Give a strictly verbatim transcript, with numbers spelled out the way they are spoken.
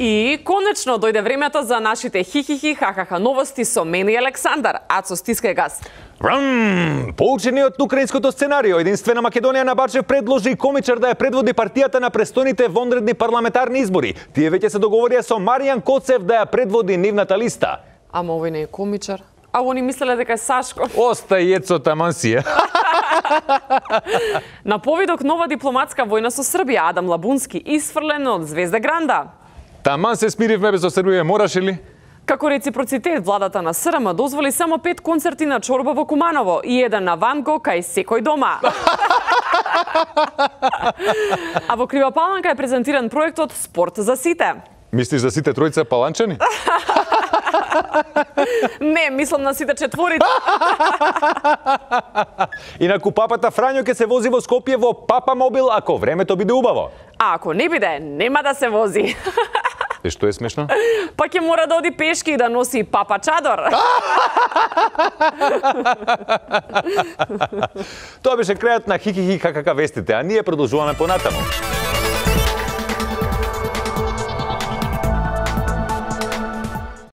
И конечно дојде времето за нашите хихихи хахаха новости со мене и Александар. Ацо, стискај газ. Врм! Поучени од украинското сценарио, Единствена Македонија на Бачев предложи комичар да ја предводи партијата на престојните вонредни парламентарни избори. Тие веќе се договорија со Маријан Коцев да ја предводи нивната листа. Ама овој не е комичар. А они мислеле дека е Сашко. Остај ецо таман си е. На повидок нова дипломатска војна со Србија, Адам Лабунски исфрлен од Звезда Гранда. Таман се смиривме без Србија, мораше ли? Како реципроцитет, владата на СРМ дозволи само пет концерти на Чорба во Куманово и еден на Ван Го кај секој дома. А во Крива Паланка е презентиран проектот Спорт за сите. Мислиш за сите тројца паланчани? Не, мислам на сите четворица. Инаку папата Фрањо ќе се вози во Скопје во Папа Мобил ако времето биде убаво. А ако не биде, нема да се вози. Е, што е смешно? Па ќе мора да оди пешки и да носи папа чадор. Тоа беше крајот на Хикихи какака вестите, а ние продолжуваме понатаму.